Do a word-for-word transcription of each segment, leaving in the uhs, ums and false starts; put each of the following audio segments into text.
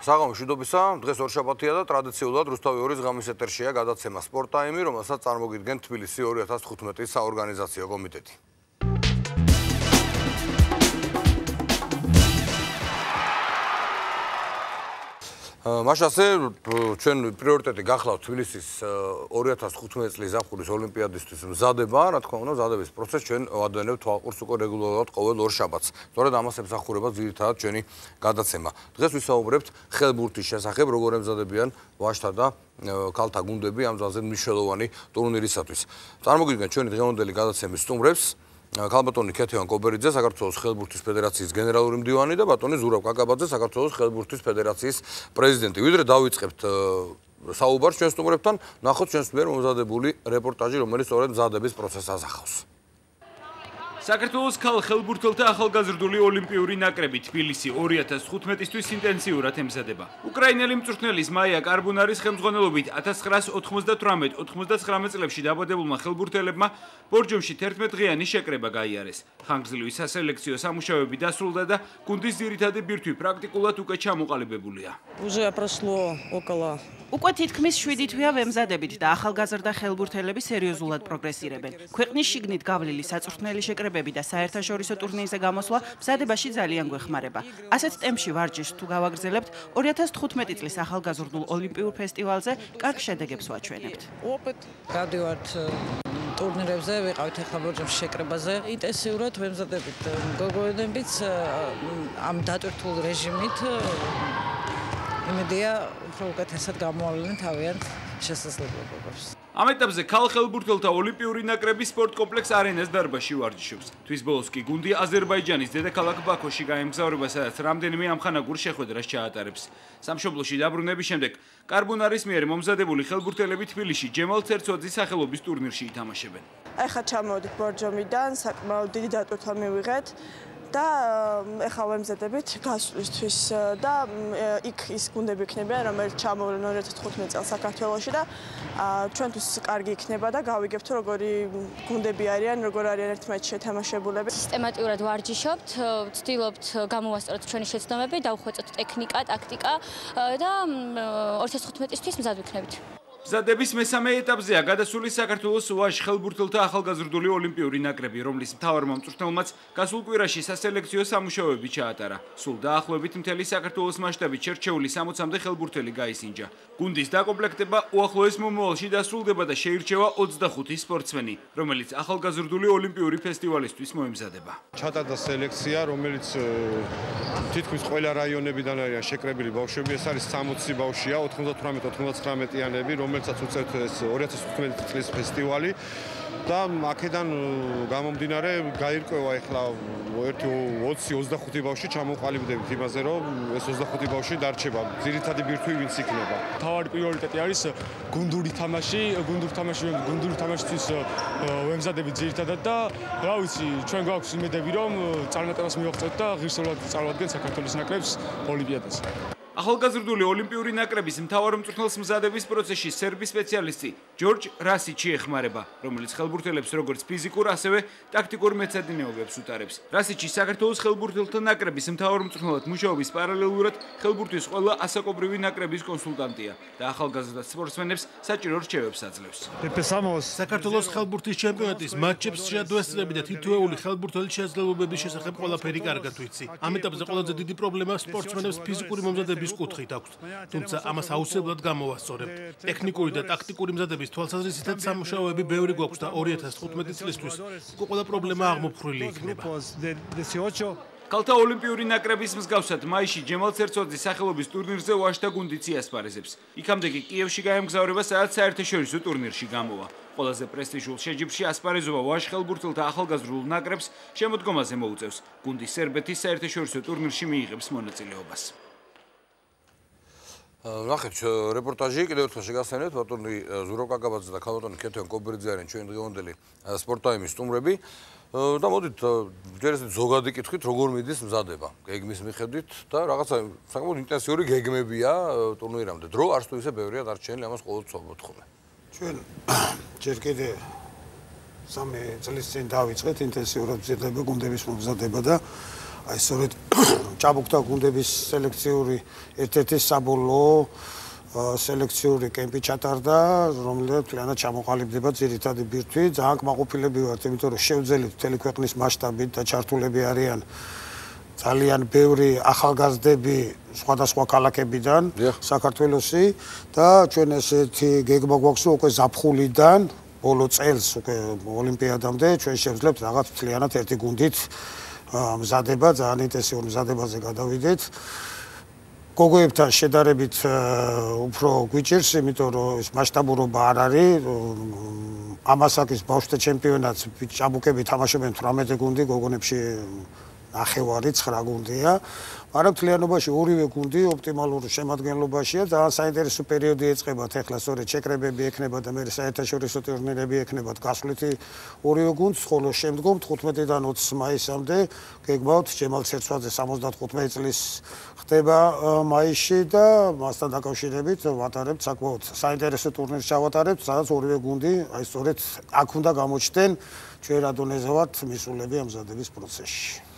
საღამო მშვიდობისა, დღეს ორშაბათია და ტრადიციულად რუსთავი ორის ღამის ეთერშია გადაცემა სპორტ ტაიმი, რომელსაც წარმოგიდგენთ თბილისი ორი ათას თხუთმეტის საორგანიზაციო კომიტეტი. მაშასე ჩვენ პრიორიტეტი გახლავთ თბილისის ორი ათას თხუთმეტი წლის ზაფხულის ოლიმპიადისთვის მზადება, რა თქმა უნდა, მზადების პროცესს ჩვენ ვადევნებთ თვალყურს უკვე რეგულარულად ყოველ ორ შაბათს. სწორედ ამას ემსახურება ძირითადად ჩვენი გადაცემა. დღეს ვისაუბრებთ ხელბურთის შესახებ, როგორ ემზადებიან ვაჟთა და ქალთა გუნდები ამ ძალზე მნიშვნელოვანი ტურნირისათვის. წარმოგიდგენთ ჩვენი დღევანდელი გადაცემის სტუმრებს. ქალბატონი ქეთევან კობერიძე, საქართველოს ხელბურთის ფედერაციის გენერალური მდივანი და ბატონი ზურაბ კაკაბაძე, საქართველოს ხელბურთის ფედერაციის პრეზიდენტი. ვიდრე დავიწყებთ საუბარს ჩვენ სტუმრებთან, ნახოთ ჩვენს მიერ მომზადებული რეპორტაჟი, რომელიც სწორედ მზადების პროცესს ასახავს. საქართველოს ქალ ხელბურთელთა ახალგაზრდული ოლიმპიური ნაკრები თბილისი ორი ათას თხუთმეტისთვის ინტენსიურად ემზადება. უკრაინელი მწვრთნელის მაია კარბუნარის ხელმძღვანელობით ათას ცხრაას ოთხმოცდათვრამეტ ოთხმოცდაცხრამეტ წლებში დაბადებულმა ხელბურთელებმა ბორჯომში თერთმეტდღიანი შეკრება გაიარეს. ხანგრძლივი სასელექციო სამუშაოები დასრულდა და გუნდის ძირითადი ბირთვი პრაქტიკულად უკვე ჩამოყალიბებულია. უკვე თითქმის შვიდი თვეა ვემზადებით და ახალგაზრდა ხელბურთელები სერიოზულად პროგრესირებენ. ქვეყნის შიგნით გავლილი საწვრთნელი შეკრებები და საერთაშორისო ტურნირზე გამოსვლა მზადებაში ძალიან გვეხმარება. ასეთ ტემპში ვარჯიშს თუ გავაგრძელებთ, ორი ათას თხუთმეტი წლის ახალგაზრდულ ოლიმპიურ ფესტივალზე კარგ შედეგებს ვაჩვენებთ. გავდივართ ტურნირებზე, ვიყავით ახლა ბორჯომში შეკრებაზე. ინტენსიურად ვემზადებით. გოგოებიც ამ დატვირთულ რეჟიმით იმედია უფრო უკეთესად გამოავლენენ თავიანთ შესაძლებლობებს. ამ ეტაპზე ქალ ხელბურთელთა ოლიმპიური ნაკრები სპორტ კომპლექს არენას დარბაზში ვარჯიშობს. თვის ბოლოს კი გუნდი აზერბაიჯანის დედაქალაქ ბაქოში გაემგზავრება, სადაც რამდენიმე ამხანაგურ შეხვედრას ჩაატარებს. სამშობლოში დაბრუნების შემდეგ კარბუნარის მიერ მომზადებული ხელბურთელები თბილისში ჯემალ ცერცოძის სახელობის ტურნირში ითამაშებენ. ახლა ჩამოვიდით ბორჯომიდან, საკმაოდ დიდი დატვირთვა მივიღეთ. და ეხლა ვემზადებით გასვლისთვის და იქ ის გუნდები იქნებიან, რომელიც ჩამოვლენ ორი ათას თხუთმეტი წელს საქართველოში და ჩვენთვის კარგი იქნება და გავიგებთ, როგორი გუნდები არიან, როგორ არიან ერთმანეთში შეთამაშებულები. სისტემატურად ვარჯიშობთ, ვცდილობთ გამოვასწოროთ ჩვენი შეცდომები, დავუხვეწოთ ტექნიკა, ტაქტიკა და ორი ათას თხუთმეტისთვის მზად ვიქნებით. მზადების მესამე ეტაპზეა გადასული საქართველოს ვაჟ ხელბურთელთა ახალგაზრდული ოლიმპიური ნაკრები, რომლის მთავარმა მწვრთნელმაც გასულ კვირაში სასელექციო სამუშაოები ჩაატარა. სულ დაახლოებით მთელი საქართველოს მასშტაბით შერჩეული სამოცამდე ხელბურთელი გაისინჯა. გუნდის დაკომპლექტება უახლოეს მომავალში დასრულდება და შეირჩევა ოცდახუთი სპორტსმენი, რომელიც ახალგაზრდული ოლიმპიური ფესტივალისთვის მოემზადება. ჩატარდა სელექცია, რომელიც თითქმის ყველა რაიონებიდან არიან შეკრებილი ბავშვები, ეს არის სამოცი ბავშვია, ოთხმოცდათვრამეტ ოთხმოცდათხრამეტიანები, რომელსაც უწევთ ეს ორი ათას თხუთმეტი წლის ფესტივალი და აქედან გამომდინარე გაირკვევა ახლა ერთი ოცი ოცდახუთი ბავშვი ჩამოყალიბდებით იმაზე, რომ ეს ოცდახუთი ბავშვი დარჩება. ძირითადი ბირთვი ვინც იქნება. თავარი პრიორიტეტი არის გუნდური თამაში, გუნდური თამაში, გუნდური თამაშისთვის ვემზადებით ძირითადად და რა ვიცი, ჩვენ გვაქვს იმედები, რომ წარმატებას მივაღწევთ და ღირსეულად წარვადგენთ საქართველოს ნაკრებს ოლიმპიადაზე. ახალგაზრდული ოლიმპიური ნაკრების მთავარ მწვრთნელს მზადების პროცესში სერბი სპეციალისტი ჯორჯ რასიჩი ეხმარება, რომელიც ხელბურთელებს როგორც ფიზიკურ, ასევე ტაქტიკურ მეცადინეობებს უტარებს. რასიჩი საქართველოს ხელბურთელთა ნაკრების მთავარ მწვრთნელად მუშაობის პარალელურად ხელბურთის ყველა ასაკობრივი ნაკრების კონსულტანტია და ახალგაზრდა სპორტსმენებს საჭირო რჩევებს აძლევს. საქართველოს ხელბურთის ჩემპიონატის მატჩებს შეადვესწრები და თითოეული ხელბურთელის შესაძლებლობების შესახებ ყველაფერი კარგად ვიცი. ამ ეტაპზე ყველაზე დიდი პრობლემა სპორტსმენებს ფიზიკური მომზადების კუთხით აქვს, თუმცა ამას აუცილებლად გამოვასწორებთ. ტექნიკური და ტაქტიკური მზადების თვალსაზრისითაც სამუშაოები ბევრი გვაქვს და ორი ათას თხუთმეტი წლისთვის უკვე ყველა პრობლემა აღმოფხრილი იქნება. ქალთა ოლიმპიური ნაკრების მსგავსად მაისში ჯემალ ცერცოძის სახელობის ტურნირზე ვაჟთა გუნდიც იასპარეზებს. იქამდე კი კიევში გაემგზავრება, სადაც საერთაშორისო ტურნირში გამოვა. ყველაზე პრესტიჟულ შეჯიბრში ასპარეზობა ვაჟ ხელბურთელთა ახალგაზრდულ ნაკრებს შემოდგომაზე მოუწევს. გუნდი სერბეთის საერთაშორისო ტურნირში მიიღებს მონაწილეობას. ნახეთ, რეპორტაჟი კიდევ ერთხელ შეგახსენებთ, ბატონი ზურაბ კაკაბაძე და ქალბატონი ქეთევან კობერიძე არიან ჩვენი დღევანდელი სპორტ ტაიმის სტუმრები. და მოდით ჯერ ესეთ ზოგადი კითხვით, როგორ მიდის მზადება გეგმის მიხედვით და რაღაცა საკმაოდ ინტენსიური გეგმებია ტურნირამდე. დრო არც თუ ისე ბევრია დარჩენილი, ამას ყოველთვის ვთხოვე. ჩვენ ჯერ კიდე სამი წლის წინ დავიწყეთ ინტენსიურად მზადება გუნდების მომზადება და აი სწორედ ჭაბუკთა გუნდების სელექციური ერთ-ერთი საბოლოო სელექციური კემპი ჩატარდა, რომელიც თლიანად ჩამოყალიბდება ძირითადი ბირთვი. ძალიან კმაყოფილები ვართ, იმიტომ რომ შევძელით მთელი ქვეყნის მასშტაბით და ჩართულები არიან ძალიან ბევრი ახალგაზრდები სხვადასხვა ქალაქებიდან, საქართველოსი და ჩვენ ესეთი გეგმა გვაქვს, რომ უკვე ზაფხულიდან ბოლო წელს უკვე ოლიმპიადამდე ჩვენ შევძლებთ რაღაც თლიანად ერთი გუნდით მზადება, ძალიან ინტენსიურ მზადებაზე გადავიდეთ. გოგოებთან შედარებით უფრო გვიჭირს, იმიტომ რომ ეს მასშტაბურობა არ არის. ამასაკის ბავშვთა ჩემპიონატს ჭაბუკები თამაშობენ თვრამეტი გუნდი, გოგონებში ნახევარი ცხრა გუნდია. მაგრამ მთლიანობაში ორივე გუნდი ოპტიმალურ შემადგენლობაშია. ძალიან საინტერესო პერიოდი ეწყებათ ახლა, სწორედ შეკრებები ექნება და მე საერთაშორისო ტურნირები ექნებათ გასვლითი ორივე გუნდს, ხოლო შემდგომ თხუთმეტიდან ოცი მაისამდე გეგმავთ ჯემალ ცერცვაძე სამოცდათხუთმეტი წლის ხდება მაისში და მასთან დაკავშირებით ვატარებთ საკმაოდ საინტერესო ტურნირს ჩავატარებთ, სადაც ორივე გუნდი აი სწორედ აქ უნდა გამოჩნდნენ ჩვენ რა დონეზე ვართ მისულები ამზადების პროცესში.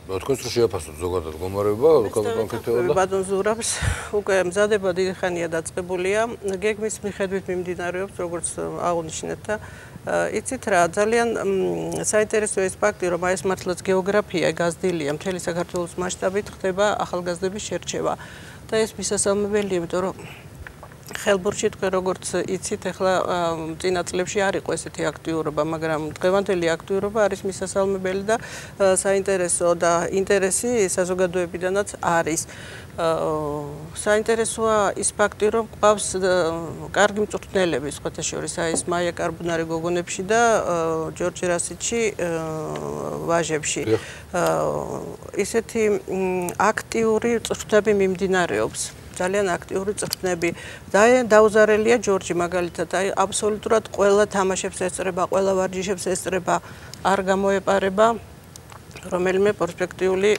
თქვენს რო შეაფასოთ ზოგადად გომარება, კონკრეტულად და ბატონ ზურაბს უკვე მზადება დიდი ხანია დაწყებულია. გეგმის მიხედვით მიმდინარეობს, როგორც აღნიშნეთ და იცით რა, ძალიან საინტერესო ეს ფაქტი, რომ აი ეს მართლაც გეოგრაფია გაზრდილია, მთელი საქართველოს მასშტაბით ხდება ახალგაზრდების შერჩევა. და ეს მისასალმებელია, იმიტომ რომ ხელბურთში თქვენ როგორც იცით, ახლა წინა წლებში არ იყო ესეთი აქტიურობა, მაგრამ დღევანდელი აქტიურობა არის მისასალმებელი და საინტერესო და ინტერესი საზოგადოებიდანაც არის. საინტერესოა ის ფაქტი, რომ ყავს კარგი მწვრთნელები, სხვათა შორის აი ეს მაია კარბუნარი გოგონებში და ჯორჯ რასიჩი ვაჟებში. ისეთი აქტიური მწვრთნები მიმდინარეობს. ძალიან აქტიური წვრთნები. დაუზარელია ჯორჯი მაგალითად, აი აბსოლუტურად ყველა თამაშებს ესწრება, ყველა ვარჯიშებს ესწრება, არ გამოეპარება რომელიმე პერსპექტიული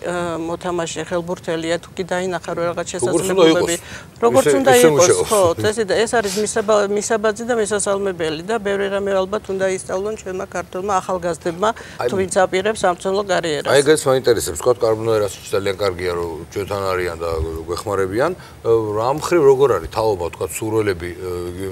მოთამაშე ხელბურთელია, თუ კი დაინახა რომ რაღაც შესაძლებლობები როგორც უნდა იყოს, ხო, წესი და ეს არის მისაბაძი და მისასალმებელი და ბევრი რამე ალბათ უნდა ისწავლონ ჩვენმა ქართველმა ახალგაზრდებმა, თუ ვინც აპირებს სამწუხაროდ კარიერას. აი ეგეც მაინტერესებს, თქვა კარბუნარას ძალიან კარგია რომ ჩვენთან არიან და გვეხმარებიან. რა მხრივ როგორ არის თაობა, თქვა სურველები,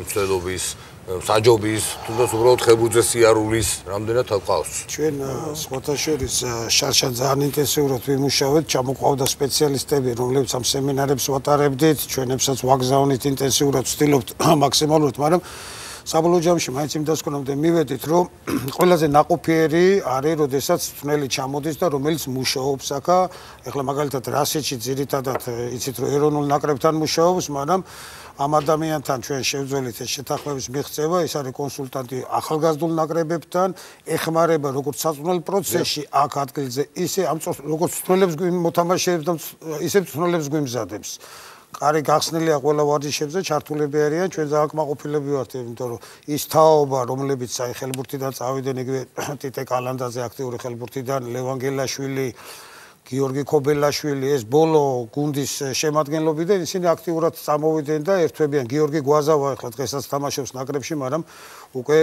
მცდელობის საჯობის, თუნდაც უბრალოდ ხელბურთზე სიარულის რამდენად ყავს. ჩვენ სხვათა შორის შარშან ძალიან ინტენსიურად ვიმუშავეთ, ჩამოყავდა სპეციალისტები, რომლებიც ამ სემინარებს ვატარებდით, ჩვენებსაც ვაგზავნით ინტენსიურად ვცდილობთ მაქსიმალურად, მაგრამ საბოლოო ჯამში მაინც იმ დასკვნამდე მივედით, რომ ყველაზე ნაყოფიერი არის, როდესაც მწვრთნელი ჩამოდის და რომელიც მუშაობს აქა. ეხლა მაგალითად რასიჩი ძირითადად იცით რომ ეროვნულ ნაკრებთან მუშაობს, მაგრამ ამ ადამიანთან ჩვენ შევძველით ეს შეთანხმების მიღწევა, ეს არის კონსულტანტი ახალგაზრდულ ნაკრებებთან, ეხმარება როგორც საწვრთნელ პროცესში აქ ადგილზე, ისე ამ როგორც მწვრთნელებს მოთამაშეებს და ისე მწვრთნელებს გვიმზადებს. კარი გახსნილია ყველა ვარჯიშებზე, ჩართულები არიან, ჩვენ ძალიან კმაყოფილები ვართ, იმიტომ რომ ის თაობა, რომლებიც აი ხელბურთიდან წავიდნენ, იგივე ტიტე კალანდაძე აქტიური ხელბურთიდან, ლევან გელაშვილი, გიორგი ქობელაშვილი, ეს ბოლო გუნდის შემადგენლობიდან ისინი აქტიურად წამოვიდნენ და ერთვებიან. გიორგი გვაზავა ახლა დღესაც თამაშობს ნაკრებში, მაგრამ უკვე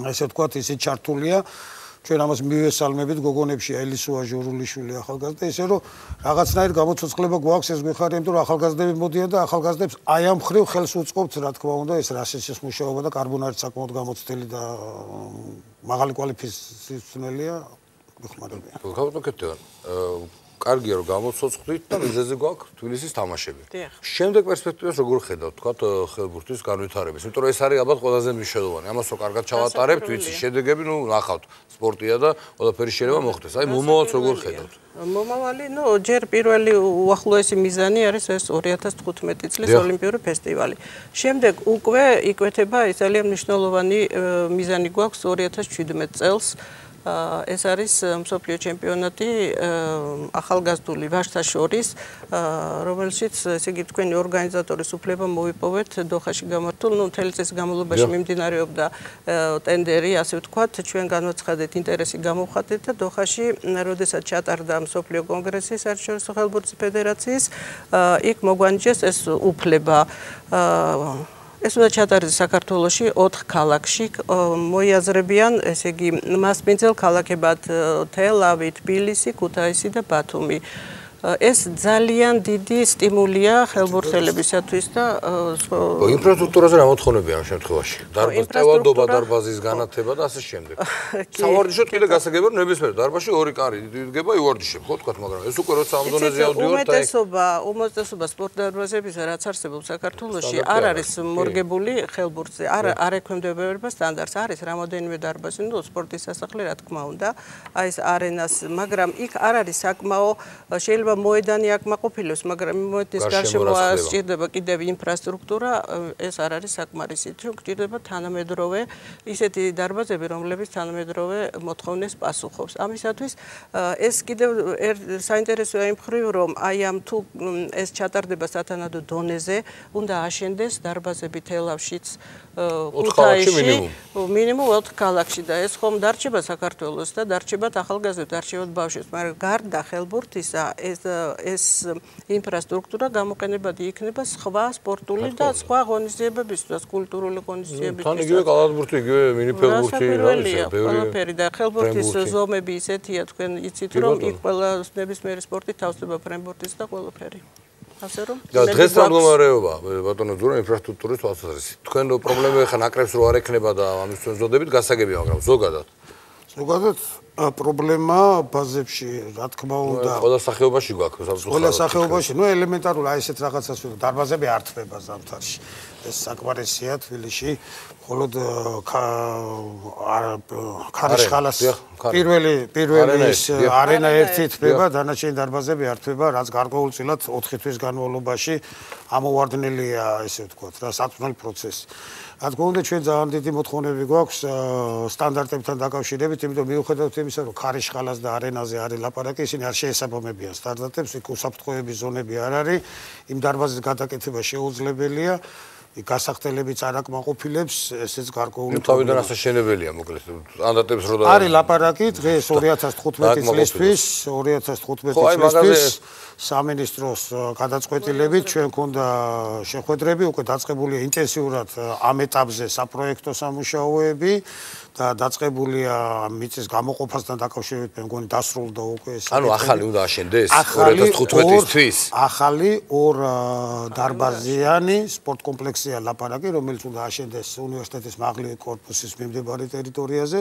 ესე ვთქვათ, ისე ჩართულია. ჩვენ ამას მივესალმებით გოგონებში ელისოა ჟურულიშვილი ახალგაზრდა, ისე რომ რაღაცნაირ გამოცოცხლება გვაქვს, ეს გვიხარია, იმიტომ რომ ახალგაზრდები მოდიან და ახალგაზრდებს აი ამ ხრივ ხელს უწყობთ, რა თქმა უნდა, ეს რასიჩის მუშაობა და კარბუნარი საკმაოდ გამოცდილი და მაღალი კვალიფიკაციის მწვრთნელია. გახავთ კარგია რომ გამოცოცხლით და მიზეზი გვაქვს თბილისის თამაშები. შემდეგ პერსპექტივას როგორ ხედავთ, თქვათ ხელბურთის განვითარების? იმიტომ რომ ეს არის ალბათ ყველაზე მნიშვნელოვანი. ამას რო კარგად ჩავატარებთ, ვიცი, შედეგები, ნუ ნახავთ, სპორტია და ყველაფერი შეიძლება მოხდეს. აი მომავალს როგორ ხედავთ? მომავალი, ნუ ჯერ პირველი უახლოესი მიზანი არის ეს ორი ათას თხუთმეტი წლის ოლიმპიური ფესტივალი. შემდეგ უკვე იკვეთება ის ძალიან მნიშვნელოვანი მიზანი გვაქვს ორი ათას შვიდმეტი წელს. ეს არის მსოფლიო ჩემპიონატი ახალგაზრდული ვაჟთა შორის, რომელშიც ესე იგი თქვენი ორგანიზატორის უფლება მოვიპოვეთ დოხაში გამართულ, ნუ მთელი წლის განმავლობაში მიმდინარეობდა ტენდერი, ასე ვთქვათ, ჩვენ განვაცხადეთ ინტერესი გამოვხატეთ და დოხაში, როდესაც ჩატარდა მსოფლიო კონგრესი საერთაშორისო ხელბურთის ფედერაციის, იქ მოგვანიჭეს ეს უფლება. ეს უნდა ჩატარდეს საქართველოში ოთხ ქალაქში, მოიაზრებიან, ესე იგი, მასპინძელ ქალაქებად თელ-ავი, თბილისი, ქუთაისი და ბათუმი. ეს ძალიან დიდი სტიმულია ხელბურთელებისათვის და ინფრასტრუქტურაზე რა მოთხოვნებია ამ შემთხვევაში? დარბაზტევადობა, დარბაზის განათება და ასე შემდეგ. სავარჯიშოდ კიდე გასაგებია, რომ ნებისმიერ დარბაზში ორი კარი იდგება ივარჯიშებ, ხო თქვა, მაგრამ ეს უკვე როცა ამ დონეზე ავდივართ, აი უმეტესობა, უმეტესობა სპორტ დარბაზებისა, რაც არსებობს საქართველოში, არ არის მორგებული ხელბურთზე, არ არ ექვემდებარება სტანდარტს, არის რამოდენიმე დარბაზი, ნუ სპორტის სასახლე, რა თქმა უნდა, აი ეს არენას, მაგრამ იქ არ არის საკმაო შეიძლება მოედანი აკმაყოფილოს, მაგრამ მოედის გარშემო სჭირდება კიდევ ინფრასტრუქტურა, ეს არ არის საკმარისი. თუ გჭირდება თანამედროვე ისეთი დარბაზები, რომლებიც თანამედროვე მოთხოვნებს პასუხობს. ამისათვის ეს კიდევ საინტერესოა იმ მხრივ, რომ აი ამ თუ ეს ჩატარდება სათანადო დონეზე, უნდა აშენდეს დარბაზები თელავშიც, ქუთაისში, მინიმუმ ოთხ ქალაქში და ეს ხომ დარჩება საქართველოს და დარჩებათ ახალგაზრდებს, დარჩებათ ბავშვებს, მაგრამ გარდა ხელბურთისა ეს ეს ინფრასტრუქტურა გამოყენებადი იქნება სხვა სპორტული და სხვა ღონისძიებებისთვის, კულტურული ღონისძიებებისთვის. თან იგივე კალათბურთი, იგივე მინიფელბურთი, ყველაფერი და ხელბურთის ზომები ისეთია, თქვენ იცით, რომ იქ ყველა ნებისმიერი სპორტი თავსდება ფრენბურთის და ყველაფერი. ასე რომ და დღეს რა მდგომარეობა ბატონო ძურა ინფრასტრუქტურის თვალსაზრისით. თქვენ პრობლემა ხა ნაკრებს რო არ ექნება და ამის თქვენ ზოდებით გასაგებია, მაგრამ ზოგადად ზოგადად პრობლემა ბაზებში, რა თქმა უნდა, ყველა სახეობაში გვაქვს სამწუხაროდ. ყველა სახეობაში, ნუ ელემენტარული აი ესეთ რაღაცას ვიღო, დარბაზები არ თბება ზამთარში. ეს საკმარისია თბილისში, მხოლოდ ქარიშხალას პირველი პირველი ის არენა ერთი თბება, დანარჩენი დარბაზები არ თბება, რაც გარკვეულწილად ოთხი თვის განმავლობაში ამოვარდნელია, ესე ვთქვათ, რა საწვნელ პროცესი. რა თქმა უნდა, ჩვენ ძალიან დიდი მოთხოვნები გვაქვს სტანდარტებთან დაკავშირებით, იმიტომ მიუხედავად იმისა, რომ ქარიშხალას და არენაზე არის ლაპარაკი, ისინი არ შეესაბამებიან სტანდარტებს, იქ უსაფრთხოების ზონები არ არის, იმ დარბაზის გადაკეთება შეუძლებელია. გასახდელებიც არ აკმაყოფილებს, ესეც გარკვეული თავიდან ასაშენებელია, მოკლედ. სტანდარტებს რო და არის ლაპარაკი დღეს ორი ათას თხუთმეტი წლისთვის, ორი ათას თხუთმეტი წლისთვის სამინისტროს გადაწყვეტილებით ჩვენ გქონდა შეხვედრები, უკვე დაწყებულია ინტენსიურად ამ ეტაპზე საპროექტო სამუშაოები და დაწყებულია მიწის გამოყოფასთან დაკავშირებით, მე მგონი დასრულდა უკვე ეს. ანუ ახალი უნდა აშენდეს ორი ათას თხუთმეტისთვის. ახალი ორ დარბაზიანი სპორტ კომპლექსია ლაპარაკი, რომელიც უნდა აშენდეს უნივერსიტეტის მაღლი კორპუსის მიმდებარე ტერიტორიაზე.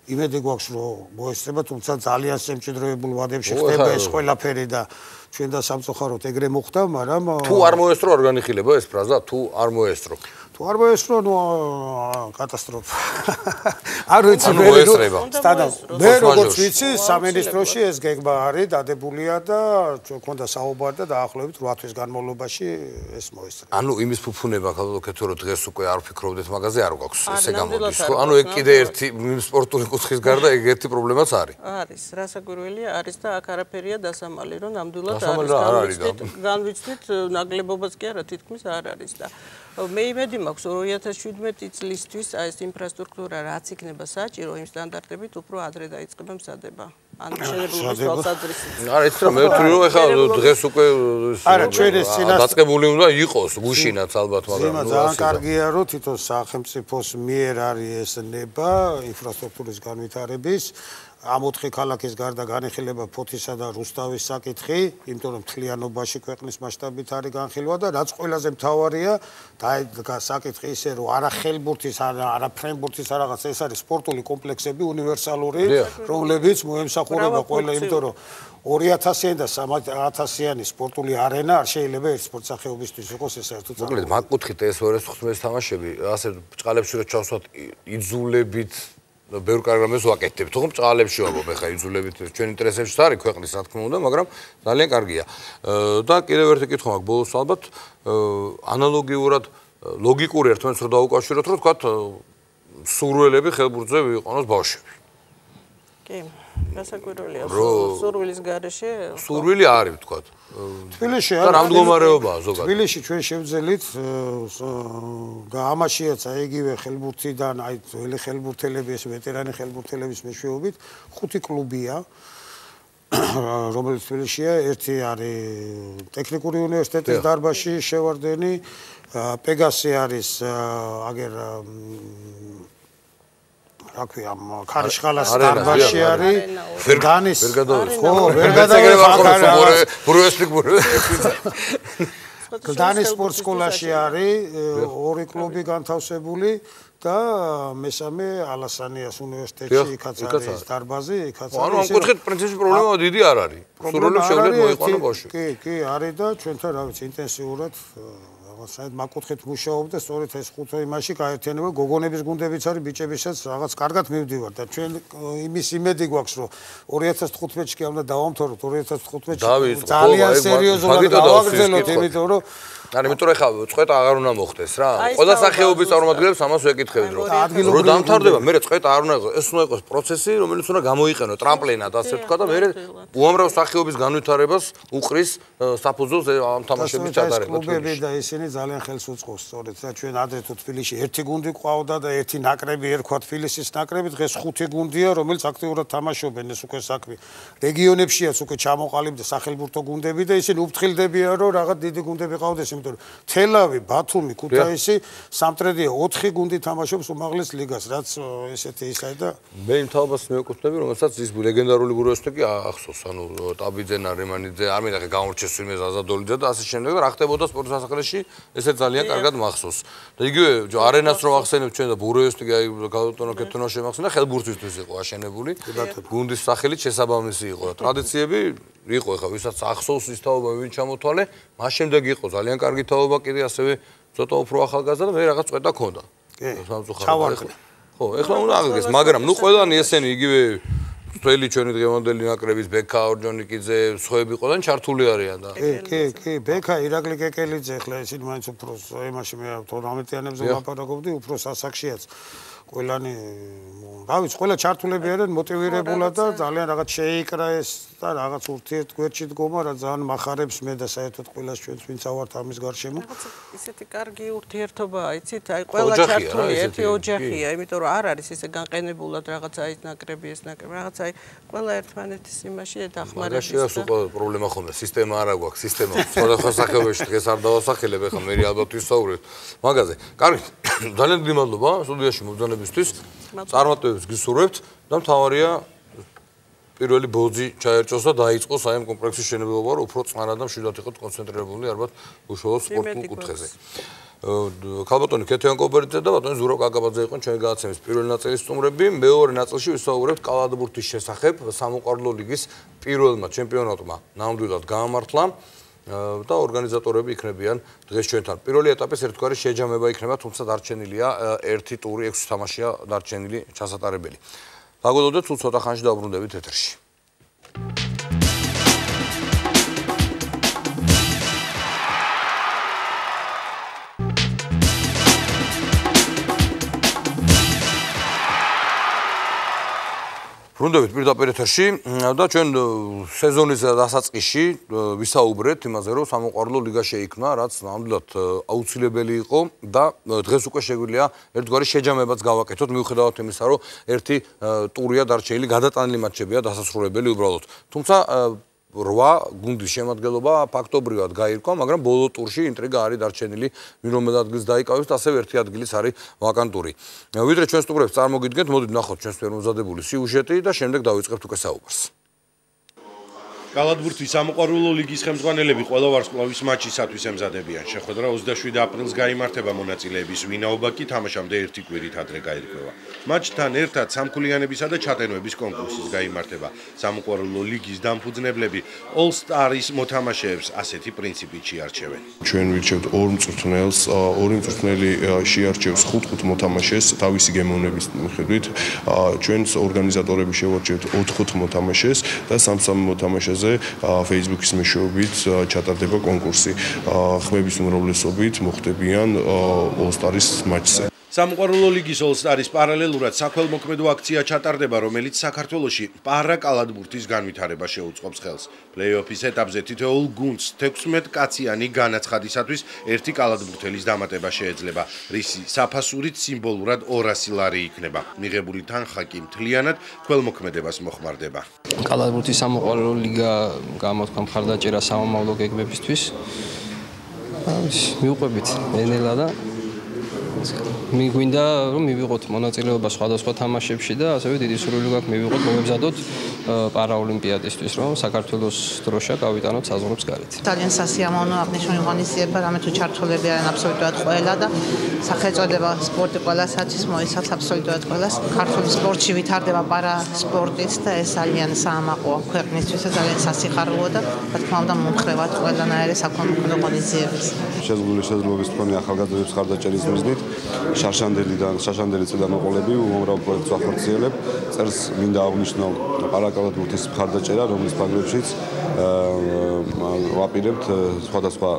იმედი გვაქვს, რომ მოესწრება, თუმცა ძალიან შემჭიდროებულ ვადებში ხდება ეს ყველაფერი და ჩვენ და სამწუხაროდ ეგრე მოხდა, მაგრამ თუ არ მოესწრო არ განიხილება ეს ფრაზა, თუ არ მოესწრო. თუ არ მოესწრო, ნუ კატასტროფა. არ ვიცი მე სტადა. მე როგორც ვიცი, სამინისტროში ეს გეგმა არის, დადებულია და ჩვენ გქონდა საუბარი და დაახლოებით ორი თვის განმავლობაში ეს მოესწრება. ანუ იმის ფუფუნება ქალბატონო რომ დღეს უკვე არ ვფიქრობდეთ მაგაზე არ გვაქვს, ესე გამოდის, ხო? ანუ ეგ კიდე ერთი სპორტული კუთხის გარდა ეგ ერთი პრობლემაც არის. არის, რასაკვირველია არის და აქ არაფერია დასამალი, რომ ნამდვილად არის. განვიცდით, ნაკლებობაც კი არა, თითქმის არ არის და მე იმედი მაქვს ორი ათას შვიდმეტი წლისთვის აი ეს ინფრასტრუქტურა რაც იქნება საჭირო იმ სტანდარტებით უფრო ადრე დაიწყება მზადება. ანუ შეერებული თვალსაზრისით. არა, ეს რომ მე ვთვლი რომ ეხლა დღეს უკვე არა, ჩვენ ეს წინას დაწყებული უნდა იყოს, გუშინაც ალბათ, მაგრამ ნუ ძალიან კარგია რომ თვითონ სახელმწიფოს მიერ არის ეს ნება ინფრასტრუქტურის განვითარების ამ ოთხი ქალაქის გარდა განიხილება ფოთისა და რუსთავის საკითხი, იმიტომ რომ მთლიანობაში ქვეყნის მასშტაბით არის განხილვა და რაც ყველაზე მთავარია, და საკითხი ისე რომ არა ხელბურთის, არა ფრენბურთის რაღაც, ეს არის სპორტული კომპლექსები უნივერსალური, რომლებიც მოემსახურება ყველა, იმიტომ რომ ორი ათასიანი და სამი ათასიანი სპორტული არენა არ შეიძლება ერთ სპორტ სახეობისთვის იყოს ეს საერთოდ. მოკლედ, მაგ კუთხით ეს ორი ათას თხუთმეტი თამაშები, ასე ბჭყალებში რო ჩავსვათ იძულებით ბევრ კარგრამებს ვაკეთებთ, თუმცა ბჭყალებში ვაბობ, ეხა იძულებით ჩვენ ინტერესებშიც არის ქვეყნის, რა თქმა უნდა, მაგრამ ძალიან კარგია. და კიდევ ერთი კითხვა მაქვს ბოლოს ალბათ, ანალოგიურად ლოგიკური ერთმანეთს რო დაუკავშიროთ, რომ თქვათ სურვილები ხელბურთზე ვიყონოს ბავშვები. კი, გასაკვირველია, სურვილის გარეშე. სურვილი არის, თქვათ. თბილისში და რა მდგომარეობაა ზოგადად. თბილისში ჩვენ შევძელით და ამაშიაც აი იგივე ხელბურთიდან, აი ძველი ხელბურთელები, ეს ვეტერანი ხელბურთელების მეშვეობით ხუთი კლუბია. რომელიც თბილისშია, ერთი არის ტექნიკური უნივერსიტეტის დარბაზში შევარდენი, პეგასი არის აგერ რა ქვია, ქარიშხალას დარბაზში არის, ვერგანის ხო, ვერ გადავიღე, ბრუესტიკ გლდანის სპორტ სკოლაში არის, ორი კლუბი განთავსებული და მესამე ალასანიას უნივერსიტეტში იქაც არის დარბაზი, იქაც არის. ანუ ამ კუთხით პრინციპში პრობლემა დიდი არ არის. სრულიად შეუძლია მოიყვანო ბავშვი. კი, კი, არის და ჩვენთან რა ვიცი, ინტენსიურად საერთოდ მაკუთხით მუშაობ და სწორედ ეს ხუთი იმაში გაერთიანება გოგონების გუნდებიც არის, ბიჭებისაც რაღაც კარგად მივდივარ და ჩვენ იმის იმედი გვაქვს, რომ ორი ათას თხუთმეტში კი უნდა დავამთავროთ, ორი ათას თხუთმეტში ძალიან სერიოზულად გავაგრძელოთ, იმიტომ რომ არა, იმიტომ რომ ხა წვეტა აღარ უნდა მოხდეს რა. ყველა სახეობის წარმომადგენლებს ამას ვეკითხებით, რომ რომ დამთავრდება, მე წვეტა არ უნდა იყოს, ეს უნდა იყოს პროცესი, რომელიც უნდა გამოიყენო ტრამპლინად, ასე ვთქვა და მე უამრავ სახეობის განვითარებას უყრის საფუძველს ამ თამაშების ჩატარება. კლუბები და ისინი ძალიან ხელს უწყობს, სწორედ და ჩვენ ადრე თუ თბილისში ერთი გუნდი ყავდა და ერთი ნაკრები ერქვა თბილისის ნაკრები, დღეს ხუთი გუნდია, რომელიც აქტიურად თამაშობენ, ეს უკვე საქმე. რეგიონებშიაც უკვე ჩამოყალიბდა სახელმწიფო გუნდები და ისინი უფრთხილდებიან, რომ რაღაც დიდი გუნდები ყავდეს. თელავი, ბათუმი, ქუთაისი, სამტრედია ოთხი გუნდი თამაშობს უმაღლეს ლიგას, რაც ესეთი ისაა და მე იმ თაობას მეკუთვნები, რომელსაც ის ლეგენდარული ბრუესტიკი ახსოვს, ანუ ტაბიძენა, რემანიძე, არ მინდა გამორჩეს ვინმე ზაზადოლიძე და ასე შემდეგ და რა ხდებოდა სპორტ სასახლეში, ესე ძალიან კარგად მახსოვს. და იგივე არენას რო ახსენებთ ჩვენ და ბრუესტიკი აი გავუტონო კეთონა შემახსენდა, ხელბურთისთვის იყო აშენებული. გუნდის სახელით შესაბამისი იყო და ტრადიციები იყო, ხა ვისაც ახსოვს ის თაობა ვინ ჩამოთვალე, მას შემდეგ იყო ძალიან კარგი თაობა კიდე ასევე ცოტა უფრო ახალგაზრდა და მე რაღაც წვეტა ქონდა. კი. ჩავარდე. ხო, ეხლა უნდა აღდგეს, მაგრამ ნუ ყველანი ესენი იგივე თველი ჩვენი დღევანდელი ნაკრების ბექა ორჯონიკიძე, სხვაები ყველანი ჩართული არიან და კი, კი, კი, ბექა ირაკლი კეკელიძე, ეხლა ისინი მაინც უფრო იმაში მე თორმეტიანებზე ვლაპარაკობდი, უფრო სასახშიაც. ყველანი რა ვიცი, ყველა ჩართულები არიან მოტივირებულად და ძალიან რაღაც შეიკრა ეს და რაღაც ურთიერთგვერდში დგომა რა ძალიან מחარებს მე და საერთოდ ყველას ჩვენს ვინც ავართ ამის გარშემო. ისეთი კარგი ურთიერთობაა, იცით, აი ყველა ჩართული ერთი ოჯახია, იმიტომ რომ არ არის ესე განყენებულად რაღაც აი ნაკრები ეს ნაკრები, რაღაც აი ყველა ერთმანეთის იმაში დახმარების. მაგაშია უკვე პრობლემა ხონდა, სისტემა არა გვაქვს, სისტემა სხვადასხვა სახეობაში დღეს არ დავასახელებ, ეხლა მე ალბათ ვისაუბრებ მაგაზე. კარგი, ძალიან დიდი მადლობა სტუდიაში მობრძანებისთვის. წარმატებებს გისურვებთ და მთავარია პირველი ბოძი ჩაერჭოს და დაიწყოს აი ამ კომპლექსის შენობება, რომ უფრო წყნარად და მშვიდად იყოთ კონცენტრირებული ალბათ უშუალოდ სპორტულ კუთხეზე. ქალბატონი ქეთევან კობერიძე და ბატონი ზურაბ კაკაბაძე იყვნენ ჩვენი გადაცემის პირველი ნაწილის სტუმრები. მეორე ნაწილში ვისაუბრებთ კალათბურთის შესახებ. სამოყვარულო ლიგის პირველმა ჩემპიონატმა ნამდვილად გაამართლა და ორგანიზატორები იქნებიან დღეს ჩვენთან. პირველი ეტაპის ერთგვარი შეჯამება იქნება, თუმცა დარჩენილია ერთი ტური, ექვსი თამაშია დარჩენილი ჩასატარებელი. დაგველოდეთ, თუ ცოტა ხანში დავბრუნდებით ეთერში. ბრუნდებით პირდაპირ ეთერში და ჩვენ სეზონის დასაწყისში ვისაუბრეთ იმაზე, რომ სამოყვარულო ლიგა შეიქმნა, რაც ნამდვილად აუცილებელი იყო და დღეს უკვე შეგვიძლია ერთგვარი შეჯამებაც გავაკეთოთ, მიუხედავად იმისა, რომ ერთი ტურია დარჩენილი, გადატანილი მატჩებია დასასრულებელი უბრალოდ. თუმცა რვა გუნდის შემადგენლობა ფაქტობრივად გაირკვა, მაგრამ ბოლო ტურში ინტრიგა არის დარჩენილი, ვინ რომელ ადგილს დაიკავებს და ასევე ერთი ადგილის არის ვაკანტური. ვიდრე ჩვენ სტუმრებს წარმოგიდგენთ, მოდით ვნახოთ ჩვენს მოზადებული სიუჟეტი და შემდეგ დავიწყებთ უკვე საუბარს. კალათბურთის სამოყვარულო ლიგის ხელმძღვანელები ყველა ვარსკვლავის მატჩისათვის ემზადებიან. შეხვედრა ოცდაშვიდი აპრილს გაიმართება, მონაწილეების ვინაობა კი თამაშამდე ერთი კვირით ადრე გაირკვევა. მატჩთან ერთად სამქულიანებისა და ჩატენოების კონკურსის გაიმართება. სამოყვარულო ლიგის დამფუძნებლები All Stars მოთამაშეებს ასეთი პრინციპით შეარჩევენ. ჩვენ ვირჩევთ ორ მწვრთნელს, ორი მწვრთნელი შეარჩევს ხუთ-ხუთ მოთამაშეს თავისი გემოვნების მიხედვით. ჩვენს ორგანიზატორები შევარჩევთ ოთხ-ოთხ მოთამაშეს და სამ-სამ მოთამაშეს Facebook-ის მეშვეობით ჩატარდება კონკურსი. ხმების უმრავლესობით მოხდებიან All Stars მატჩზე. სამოყვარულო ლიგის All-Stars პარალელურად საქველმოქმედო აქცია ჩატარდება, რომელიც საქართველოში პარა-კალათბურთის განვითარება შეუწყობს ხელს. Play-off-ის ეტაპზე თითოეულ გუნდს თექვსმეტ კაციანი განაცხადისათვის ერთი კალათბურთელის დამატება შეეძლება, რისი საფასურით სიმბოლურად ორასი ლარი იქნება. მიღებული თანხა კი მთლიანად ქველმოქმედებას მოხმარდება. კალათბურთის სამოყვარულო ლიგა გამოთქვა მხარდაჭერა სამომავლო გეგმებისთვის. მივყვებით ენელა და მიგვინდა რომ მივიღოთ მონაწილეობა სხვადასხვა თამაშებში და ასევე დიდი სურვილი გაქვს მივიღოთ მომებზადოთ პარაოლიმპიადისთვის, რომ საქართველოს დროშა გავიტანოთ საზღვრებს გარეთ. ძალიან სასიამოვნო აღნიშნული ღონისძიება, რამე თუ ჩართულები არიან აბსოლუტურად ყველა და სახელწოდება სპორტი ყველასაც მოიცავს აბსოლუტურად ყველას. ქართული სპორტში ვითარდება პარა სპორტით და ეს ძალიან საამაყოა ქვეყნისთვის და ძალიან სასიხარულოა და რა თქმა უნდა მომხრევად ყველანაირი საქველმოქმედო ღონისძიებებს. შეზღუდული შესაძლებლობის მქონე ახალგაზრდების მხარდაჭერის მიზნით შარშანდელიდან შაშანდელი წინამოყოლები უმამრავ პროექტს ახორციელებ. წერს მინდა აღნიშნო პარაკალათბურთის მხარდაჭერა, რომლის ფარგლებშიც ვაპირებთ სხვადასხვა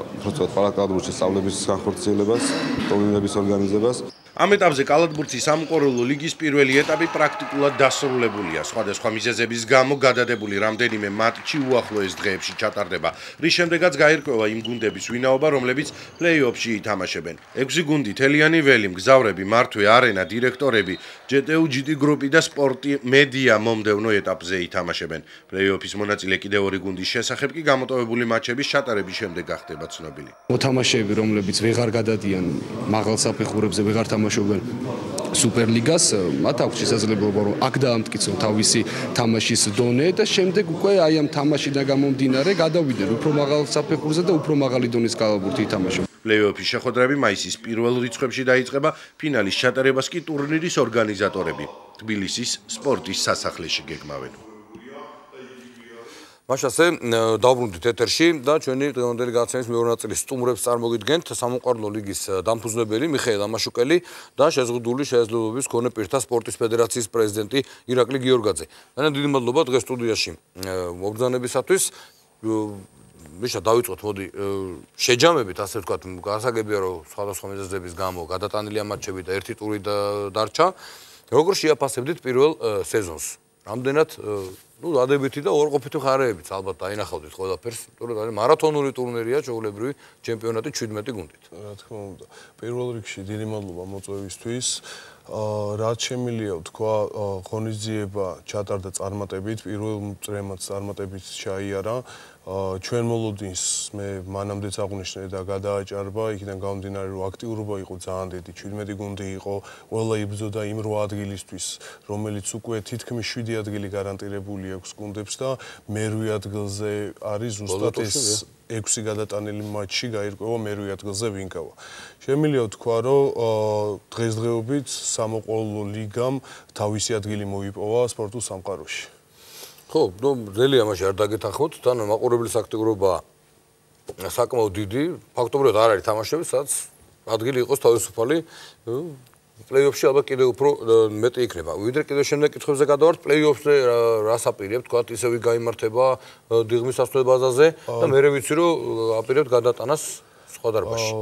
პარაკალათბურთის სწავლების განხორციელებას, ტურნირების ორგანიზებას. ამ ეტაპზე კალათბურთის სამოყვარულო ლიგის პირველი ეტაპი პრაქტიკულად დასრულებულია. სხვადასხვა მიზეზების გამო გადადებული რამდენიმე მატჩი უახლოეს დღეებში ჩატარდება, რის შემდეგაც გაირკვევა იმ გუნდების ვინაობა, რომლებიც პლეი-ოფში ითამაშებენ. ექვსი გუნდი თელიანი ველი, მგზავრები, მართვე, არენა, დირექტორები, ჯე ტე უ ჯი ტი გრუპი და სპორტი მედია მომდევნო ეტაპზე ითამაშებენ. პლეი-ოფის მონაწილე კიდევ ორი გუნდის შესახებ კი გამოტოვებული მატჩების ჩატარების შემდეგ გახდება ცნობილი. მოთამაშეები, რომლებიც ვეღარ გადადიან მაღალ საფეხურებზე, ვეღარ თამაშობენ სუპერლიგას, მათ აქვს შესაძლებლობა რომ აქ დაამტკიცონ თავისი თამაშის დონე და შემდეგ უკვე აი ამ თამაშიდან გამომდინარე გადავიდნენ უფრო მაღალ საფეხურზე და უფრო მაღალი დონის კალათბურთი ითამაშონ. პლეი-ოფის შეხვედრები მაისის პირველ რიცხვებში დაიწყება, ფინალის ჩატარებას კი ტურნირის ორგანიზატორები თბილისის სპორტის სასახლეში გეგმავენ. მაშასე დავბრუნდით ეთერში და ჩვენი დღევანდელი გადაცემის მეორე ნაწილის სტუმრებს წარმოგიდგენთ სამოყვარულო ლიგის დამფუძნებელი მიხეილ ამაშუკელი და შეზღუდული შესაძლებლობების მქონე პირთა სპორტის ფედერაციის პრეზიდენტი ირაკლი გიორგაძე. ძალიან დიდი მადლობა დღეს სტუდიაში მობრძანებისათვის. მიშა დავიწყოთ მოდი შეჯამებით, ასე ვთქვათ, გასაგებია რომ სხვადასხვა მიზეზების გამო გადატანილია მატჩები და ერთი ტური დარჩა. როგორ შეაფასებდით პირველ სეზონს? რამდენად ну დადებითი და ორყოფითი მხარეებიც ალბათ დაინახავდით ყველაფერს, იმიტომ რომ არის მარათონული ტურნირია, ჩვეულებრივი ჩემპიონატი შვიდმეტი გუნდით. რა თქმა უნდა, პირველ რიგში დიდი მადლობა მოწვევისთვის. რაც შემიძლია ვთქვა, ღონისძიება ჩატარდა წარმატებით, პირველ წრემაც წარმატებით ჩაიარა. ჩვენ მოლოდინს მე მანამდეც აღვნიშნე და გადააჭარბა, იქიდან გამომდინარე რომ აქტიურობა იყო ძალიან დიდი, შვიდმეტი გუნდი იყო, ყველა იბრძოდა იმ რვა ადგილისთვის, რომელიც უკვე თითქმის შვიდი ადგილი გარანტირებული აქვს გუნდებს და მერვე ადგილზე არის ზუსტად ეს ექვსი გადატანილი მატჩი გაირკვევა მერვე ადგილზე ვინკავა. შემიძლია ვთქვა, რომ დღესდღეობით სამოყვარულო ლიგამ თავისი ადგილი მოიპოვა სპორტულ სამყაროში. ხო, ნუ ძელია მაშინ არ დაგეთანხმოთ, თან მაყურებლის აქტიურობა საკმაოდ დიდი, ფაქტობრივად არ არის თამაშები, სადაც ადგილი იყოს თავისუფალი, პლეი-ოფში ალბათ კიდევ უფრო მეტი იქნება. ვიდრე კიდევ შემდეგ კითხვებზე გადავართ, პლეი-ოფზე რას აპირებთ, თქვათ ისევ გაიმართება დიღმის სასწავლო ბაზაზე და მე ვიცი რომ აპირებთ გადატანას სხვა დარბაზში.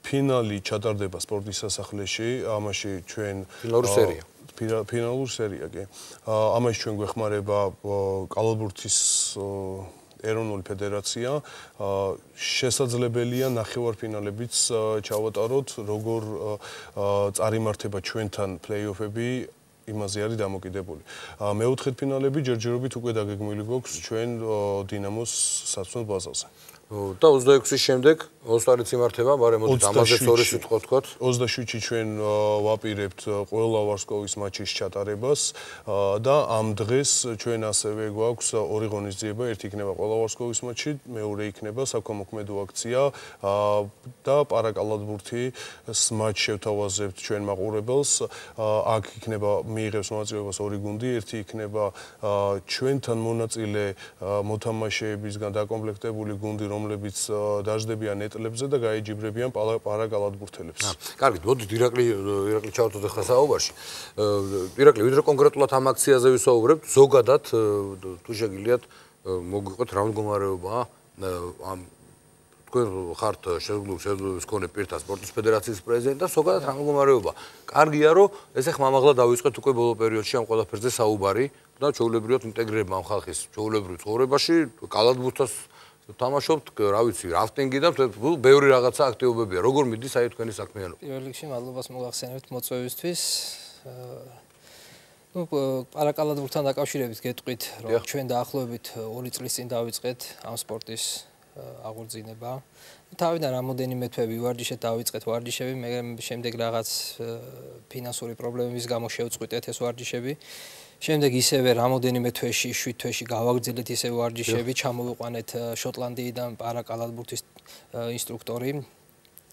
ფინალი ჩატარდება სპორტის სასახლეში, ამაში ჩვენ ფინალური სერია. ფინალური სერია კი. ამაში ჩვენ გვეხმარება კალათბურთის ეროვნული ფედერაცია. შესაძლებელია ნახევარფინალებიც ჩავატაროთ, როგორ წარიმართება ჩვენთან პლეი-ოფები იმაზე არის დამოკიდებული. მეოთხედფინალები ჯერჯერობით უკვე დაგეგმილი გვაქვს ჩვენ დინამოს საცდელ ბაზაზე. და ოცდაექვსის შემდეგ ოსტარიც იმართება, მაგრამ მოდით ამაზეც ორი სიტყვა ვთქვათ. ოცდაშვიდში ჩვენ ვაპირებთ ყველა ვარსკვლავის მატჩის ჩატარებას და ამ დღეს ჩვენ ასევე გვაქვს ორი ღონისძიება, ერთი იქნება ყველა ვარსკვლავის მატჩი, მეორე იქნება საქველმოქმედო აქცია და პარაკალათბურთის მატჩს შევთავაზებთ ჩვენ მაყურებელს. აქ იქნება მიიღებს მონაწილეობას ორი გუნდი, ერთი იქნება ჩვენთან მონაწილე მოთამაშეებისგან დაკომპლექტებული გუნდი, რომლებიც დაждდებიან ეტლებზე და გაეჯიბრებიან პარაკალათბურთელებს. კარგი, მოდით ირაკლი ირაკლი ჩავთვალოთ ახლა საუბარში. ირაკლი, ვიდრე კონკრეტულად ამ აქციაზე ვისაუბრებთ, ზოგადად თუ შეგიძლიათ მოგვიყვეთ რა მდგომარეობაა ამ თქვენ ხართ შეზღუდული შეძლებლობის მქონე პირთა სპორტის ფედერაციის პრეზიდენტი და ზოგადად რა მდგომარეობა. კარგია, რომ ესე ხმამაღლა დავიწყეთ უკვე ბოლო პერიოდში ამ ყველაფერზე საუბარი და ჩვეულებრივად ინტეგრირება ამ ხალხის ჩვეულებრივ ცხოვრებაში, კალათბურთს თამაშობთ, რა ვიცი, რაფტინგი და ბევრი რაღაცა აქტივობებია. როგორ მიდის აი თქვენი საქმიანობა? პირველ რიგში მადლობას მოგახსენებთ მოწვევისთვის. ну პარაკალათბურთთან დაკავშირებით გეტყვით, რომ ჩვენ დაახლოებით ორი წლის წინ დავიწყეთ ამ სპორტის აღორძინება. თავიდან რამოდენიმე თვე ვივარჯიშეთ, დავიწყეთ ვარჯიშები, მე შემდეგ რაღაც ფინანსური პრობლემების გამო შევწყვიტეთ ეს ვარჯიშები. შემდეგ ისევე რამოდენიმე თვეში, შვიდ თვეში გავაგრძელეთ ისე ვარჯიშები, ჩამოვიყვანეთ შოტლანდიიდან პარაკალათბურთის ინსტრუქტორი,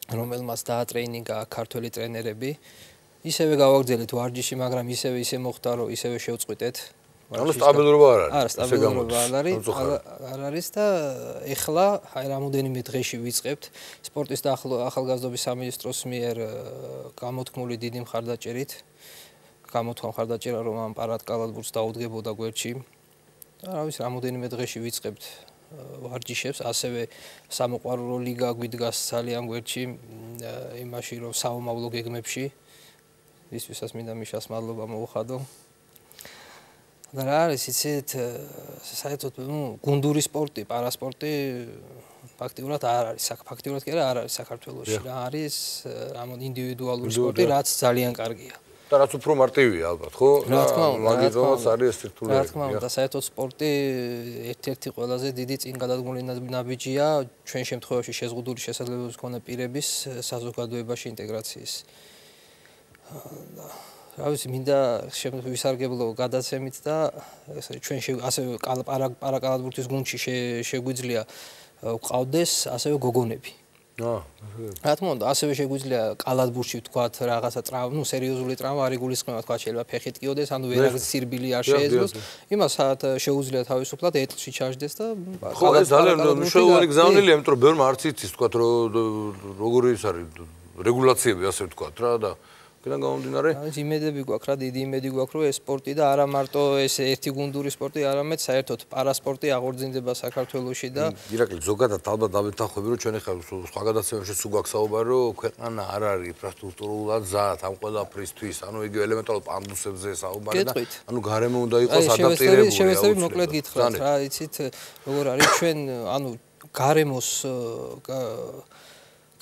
რომელმაც დაატრეინინგა ქართველი ტრენერები. ისევე გავაგრძელეთ ვარჯიში, მაგრამ ისევე ისე მოხდა, რომ ისევე შევწყვიტეთ. ანუ სტაბილურობა არ არის. არა, სტაბილურობა არ არის. არ არის და ეხლა აი რამოდენიმე დღეში ვიწყებთ სპორტის და ახალგაზრდობის სამინისტროს მიერ გამოთქმული დიდი მხარდაჭერით. გამოთქვა მხარდაჭერა, რომ ამ პარაკალათბურთს დაუდგებოდა გვერდში. რა ვიცი, რამოდენიმე დღეში ვიწყებთ ვარჯიშებს, ასევე სამოყვარულო ლიგა გვიდგას ძალიან გვერდში, იმაში რომ საომავლო გეგმებში ისვისაც მინდა მიშას მადლობა მოუხადო. და რა არის, იცით, საერთოდ, ну, გუნდური სპორტი, პარასპორტი ფაქტიურად არ არის, ფაქტიურად კი არა, არ არის საქართველოში. რა არის რამონ ინდივიდუალური სპორტი, რაც ძალიან კარგია. და რაც უფრო მარტივია ალბათ, ხო? რა თქმა უნდა, მაგითაც არის ეს სირთულე. რა თქმა უნდა, საერთოდ სპორტი ერთ-ერთი ყველაზე დიდი წინ გადადგმული ნაბიჯია ჩვენ შემთხვევაში შეზღუდული შესაძლებლობის მქონე პირების საზოგადოებაში ინტეგრაციის. რა ვიცი, მინდა ვისარგებლო გადაცემით და ჩვენ ასევე პარაკალათბურთის გუნდში შეგვიძლია ვყავდეს ასევე გოგონები. აა, რა თქმა უნდა, ასევე შეგვიძლია კალათბურთში ვთქვათ რაღაცა ტრავმა, ну, სერიოზული ტრავმა არ იგულისხმება, თქვა შეიძლება ფეხით კიოდეს, ანუ ვერაგის სირბილი არ შეეძლოს. იმას შეუძლია თავისუფლად ეტლში ჩაждდეს და ხო, ეს ძალიან მნიშვნელოვანი გზავნილია, იმიტომ რომ ბევრმა არც იცის, თქვა რომ როგორი ის არის რეგულაციები, ასე ვთქვათ რა და კიდან გამომდინარე? აი, იმედები გვაქვს რა, დიდი იმედი გვაქვს, რომ ეს სპორტი და არა მარტო ეს ერთი გუნდური სპორტი, არამედ საერთოდ პარასპორტი აღორძინდება საქართველოში და ირაკლი, ზოგადად ალბათ დავეთანხმები, რომ ჩვენ ახლა სხვა გადაცემებში სულ გვაქვს საუბარი, რომ ქვეყანა არ არის ინფრასტრუქტურულად ზად ამ ყველაფრისთვის, ანუ იგი ელემენტარულ პანდუსებზე საუბარი და ანუ გარემო უნდა იყოს ადაპტირებული. შევეცდები მოკლედ გითხრათ რა, იცით, როგორ არის ჩვენ, ანუ გარემოს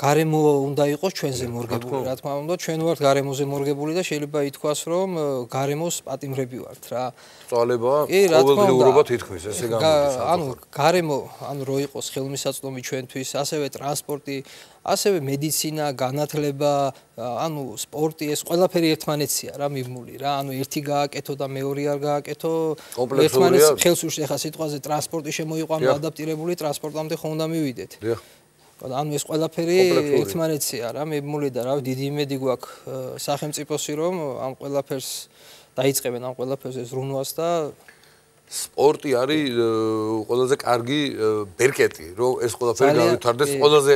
გარემო უნდა იყოს ჩვენზე მორგებული, რა თქმა უნდა, ჩვენ ვართ გარემოზე მორგებული და შეიძლება ითქვას, რომ გარემოს პატიმრები ვართ რა. წვალება ყოველდღიურობა თითქმის ესე გამოდის. ანუ გარემო, ანუ რო იყოს ხელმისაწვდომი ჩვენთვის, ასევე ტრანსპორტი, ასევე მედიცინა, განათლება, ანუ სპორტი, ეს ყველაფერი ერთმანეთსია რა მიბმული რა, ანუ ერთი გააკეთო და მეორე არ გააკეთო, ერთმანეთს ხელს უშლის ახლა სიტყვაზე ტრანსპორტი შემოიყვანო ადაპტირებული ტრანსპორტამდე ხომ უნდა მივიდეთ. ანუ ეს ყველაფერი ერთმანეთსია რა მიბმული და რა დიდი იმედი გვაქვს სახელმწიფოსი რომ ამ ყველაფერს დაიწყებენ ამ ყველაფერს ზრუნვას და სპორტი არის ყველაზე კარგი ბერკეტი რომ ეს ყველაფერი გავითარდეს ყველაზე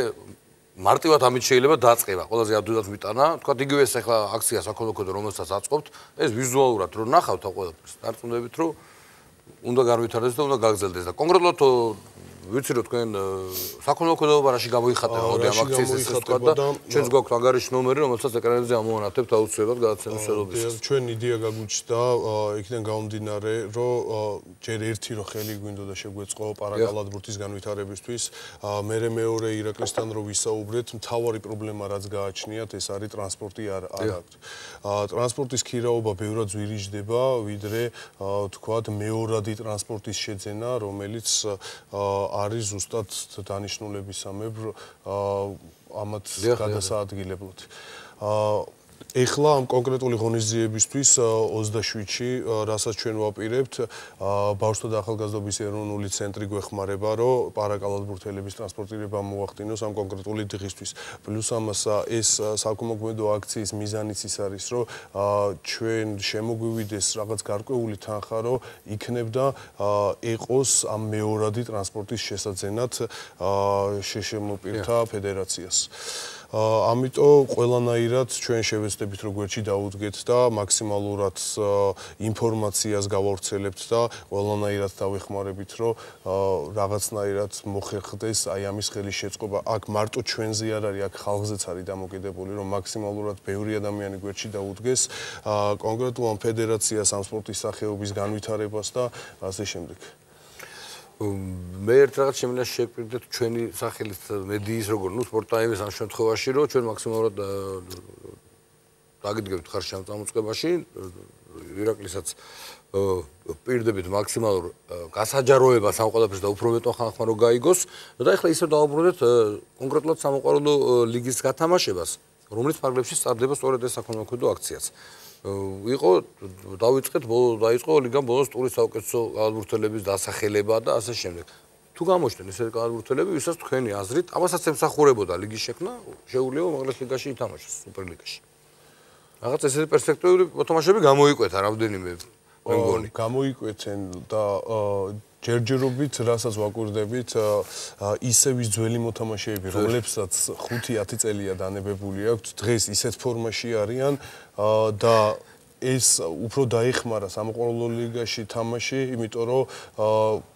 მარტივად ამით შეიძლება დაწყება ყველაზე ადვილად ვიტანა თქვა იგივე ეს ახლა აქცია საქოლმოქმედო რომელსაც აწყობთ ეს ვიზუალურად რომ ნახავთ ამ ყველაფერს დარწმუნდებით რომ უნდა განვითარდეს და უნდა გაგრძელდეს და კონკრეტულად ვიცი რომ თქვენ საქონლოქმედოობა რაში გამოიხატება მოდი ამ აქციის ეს თქვა და ჩვენს გვაქვს ანგარიში ნომერი რომელსაც ეკრანებზე ამოვანათებთ აუცილებლად გადაცემის შედეგად ჩვენ იდეა გაგვიჩნდა იქიდან გამომდინარე რომ ჯერ ერთი რო ხელი გვინდოდა შეგვეწყო პარაკალათბურთის განვითარებისთვის მერე მეორე ირაკლისთან რო ვისაუბრეთ მთავარი პრობლემა რაც გააჩნიათ ეს არის ტრანსპორტი არ აქვს ტრანსპორტის ქირაობა ბევრად ზვირიჯდება ვიდრე თქვათ მეორადი ტრანსპორტის შეძენა რომელიც არის ზუსტად დანიშნულებისამებრ ამათ გადასაადგილებლად. ეხლა ამ კონკრეტული ღონისძიებისთვის ოცდაშვიდში, რასაც ჩვენ ვაპირებთ, ბავშვთა და ახალგაზრდობის ეროვნული ცენტრი გვეხმარება, რომ პარაკალათბურთელების ტრანსპორტირება მოახდინოს ამ კონკრეტული დღისთვის. პლუს ამას ეს საქონლოქმედო აქციის მიზანიც ის არის, რომ ჩვენ შემოგვივიდეს რაღაც გარკვეული თანხა, რომ იქნებდა ეყოს ამ მეორადი ტრანსპორტის შესაძენად შეშემოპირთა ფედერაციას. ამიტომ ყველანაირად ჩვენ შევეცდებით რომ გვერდში დაუდგეთ და მაქსიმალურად ინფორმაციას გავავრცელებთ და ყველანაირად დავეხმარებით რომ რაღაცნაირად მოხერხდეს აი ამის ხელის შეწყობა. აქ მარტო ჩვენზე არ არის, აქ ხალხზეც არის დამოკიდებული რომ მაქსიმალურად ბევრი ადამიანი გვერდში დაუდგეს კონკრეტულ ამ ფედერაციას, ამ სპორტის სახეობის განვითარებას და ასე შემდეგ. მე ერთ რაღაც შემიძლია შევპირდეთ ჩვენი სახელით მედიის როგორ ნუ სპორტ ტაიმის ამ შემთხვევაში რომ ჩვენ მაქსიმალურად დაგიდგებთ ხარში ამ წამოწყებაში ირაკლისაც პირდებით მაქსიმალურ გასაჯაროებას ამ ყველაფერს და უფრო მეტო ხალხმა რომ გაიგოს და ეხლა ისევ დავუბრუნდეთ კონკრეტულად სამოყვარულო ლიგის გათამაშებას რომელიც ფარგლებში სტარდება სწორედ ეს საქონლო აქციაც იყო დავიწყეთ დაიწყო ლიგამ ბოლოს ტურის საუკეთესო გალბურთელების დასახელება და ასე შემდეგ. თუ გამოჩნდნენ ესეთი გალბურთელები, ვისაც თქვენი აზრით, ამასაც ემსახურებოდა ლიგის შექმნა, შეუძლია უმაღლეს ლიგაში ითამაშოს, სუპერლიგაში. რაღაც ესეთი პერსპექტივები მოთამაშეები გამოიკვეთა რამდენიმე მე მგონი. გამოიკვეცენ და ჯერჯერობით რასაც ვაკვირდებით ისევ ის ძველი მოთამაშეები, რომლებსაც ხუთი ათი წელია დანებებული აქვთ, დღეს ისეთ ფორმაში არიან და ეს უფრო დაეხმარა სამოყვარულო ლიგაში თამაში, იმიტომ რომ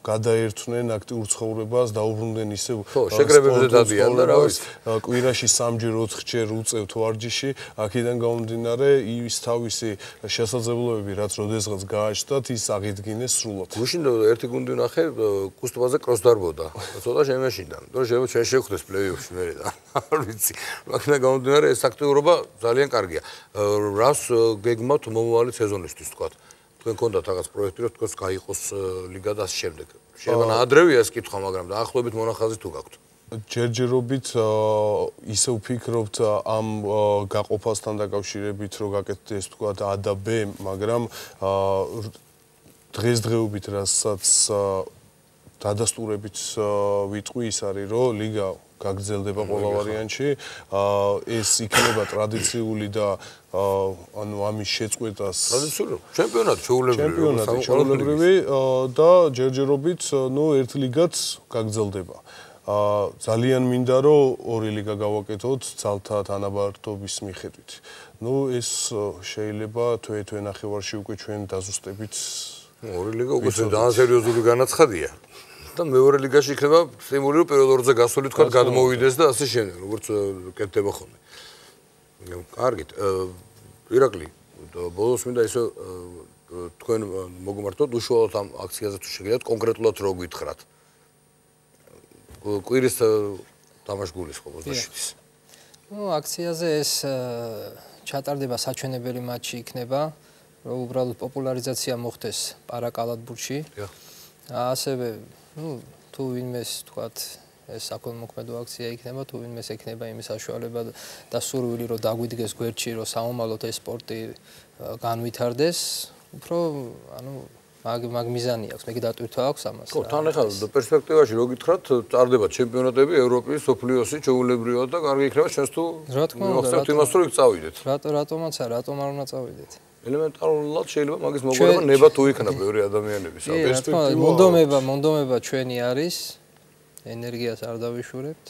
გადაერთვნენ აქტიურ ცხოვრებას, დაუბრუნდნენ ისევ შეკრებებზე დადიან და რა ვიცი. კვირაში სამჯერ ოთხჯერ უწევთ ვარჯიში, აქედან გამომდინარე ის თავისი შესაძლებლობები, რაც როდესღაც გააჩნდათ, ის აღიდგინეს სრულად. გუშინ ერთი გუნდი ვნახე, კუსტობაზე კროს დარბოდა. ცოტა შემეშინდა. რომ ჩვენ შევხვდეს პლეიოფში მერე და არ ვიცი. აქედან გამომდინარე ეს აქტიურობა ძალიან კარგია. რას გეგმავთ მომავალი სეზონისთვის თქვა. თქვენ გქონდათ რაღაც პროექტი რომ თქოს გაიყოს ლიგა და ასე შემდეგ. შეიძლება ადრევია ეს კითხვა, მაგრამ დაახლოებით მონახაზი თუ გაქვთ. ჯერჯერობით ისე ვფიქრობთ ამ გაყოფასთან დაკავშირებით რომ გაკეთდეს თქვა A და B, მაგრამ დღესდღეობით რასაც დადასტურებით ვიტყვი ის არის რომ ლიგა გაგრძელდება ყველა ვარიანტში. ეს იქნება ტრადიციული და ანუ ამის შეწყვეტას ტრადიციული ჩემპიონატი შეულებრივი ჩემპიონატი შეულებრივი და ჯერჯერობით ნუ ერთ ლიგაც გაგრძელდება. ძალიან მინდა რომ ორი ლიგა გავაკეთოთ ძალთა თანაბართობის მიხედვით. ნუ ეს შეიძლება თვე-თვე ნახევარში უკვე ჩვენ დაზუსტებით. ორი ლიგა უკვე ძალიან სერიოზული განაცხადია. და მეორე ლიგაში იქნება სტიმული რომ პირველ ორზე გასული თქვა გადმოვიდეს და ასე შემდეგ როგორც კეთდება ხოლმე. კარგით. ირაკლი, ბოლოს მინდა ისე თქვენ მოგმართოთ უშუალოდ ამ აქციაზე თუ შეგიძლიათ კონკრეტულად რო გითხრათ. კვირის თამაშგულის ხო ოცდაშვიდის. ნუ აქციაზე ეს ჩატარდება საჩვენებელი მატჩი იქნება, რომ უბრალოდ პოპულარიზაცია მოხდეს პარაკალათბურთში. ასევე ну, თუ ვინმეს თქვათ ეს საქონლმოქმედო აქცია იქნება, თუ ვინმეს ექნება იმის საშუალება და სურვილი რომ დაგვიდგეს გვერდში, რომ საომალოდ ეს სპორტი განვითარდეს, უფრო ანუ მაგ მაგ მიზანი აქვს, მე გიდატვირთვა აქვს ამას. ხო, თან ახლა პერსპექტივაში რო გითხრათ, წარდება ჩემპიონატები, ევროპის, სოფლიოსი, შეულებრივად და კარგი იქნება ჩვენს თუ რა თქმა უნდა, მოგხსენებთ იმას რომ იქ წავიდეთ. რატო რატომაც არა, რატომ არ უნდა წავიდეთ? ელემენტარულად შეიძლება მაგის მოგვარება ნება თუ იქნება ბევრი ადამიანების პერსპექტივა. მონდომება, მონდომება ჩვენი არის. ენერგიას არ დავიშურებთ.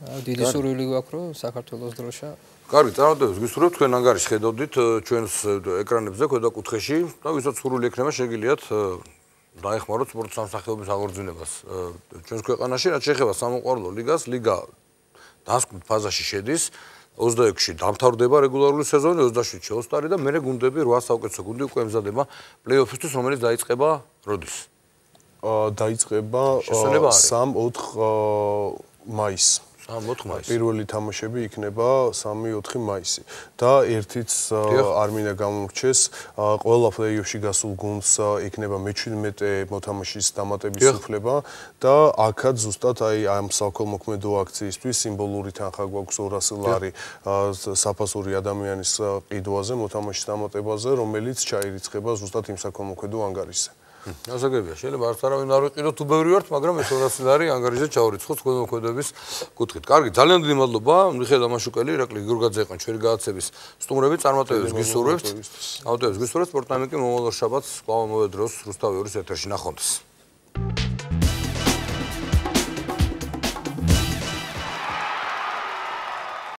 დიდი სურვილი გვაქვს რომ საქართველოს დროშა. კარგი, წარმატებებს გისურვებთ, თქვენ ანგარიშს ხედავდით ჩვენს ეკრანებზე ქვედა კუთხეში და ვისაც სურვილი ექნება შეგიძლიათ დაეხმაროთ სპორტ სამსახიობის აღორძინებას ჩვენს ქვეყანაში, რაც შეეხება სამოყვარულო ლიგას, ლიგა დასკვნით ფაზაში შედის. ოცდაექვსში დამთავრდება რეგულარული სეზონი, ოცდაშვიდში ოსტარი და მერე გუნდები რვა საუკეთესო გუნდი უკვე ემზადება პლეიოფისთვის, რომელიც დაიწყება როდის? დაიწყება სამი-ოთხ მაისს. სამი-ოთხ მაისს. პირველი თამაშები იქნება სამი-ოთხი მაისი და ერთიც არ მინდა გამომრჩეს, ყველა პლეიოფში გასულ გუნდს იქნება მეჩვიდმეტე მოთამაშის დამატების უფლება და აქაც ზუსტად აი ამ საქონლმოქმედო აქციისთვის სიმბოლური თანხა გვაქვს ორასი ლარი საფასური ადამიანის ყიდვაზე, მოთამაშის დამატებაზე, რომელიც ჩაირიცხება ზუსტად იმ საქონლმოქმედო ანგარიშზე. ასაგებია, შეიძლება არც არავინ არ ვიყიდოთ, თუ ბევრი ვართ, მაგრამ ეს ორასი ლარი ანგარიშზე ჩავრიცხოთ თქვენ მოქმედების კუთხით. კარგი, ძალიან დიდი მადლობა, მიხეილ დამაშუკელი, ირაკლი გიორგაძე იყო ჩვენი გადაცემის სტუმრები, წარმატებებს გისურვებთ. წარმატებებს გისურვებთ, სპორტ ტაიმი კი მომავალ შაბათს კვლავ მოვედროს რუსთავი ორის ეთერში ნახვამდის.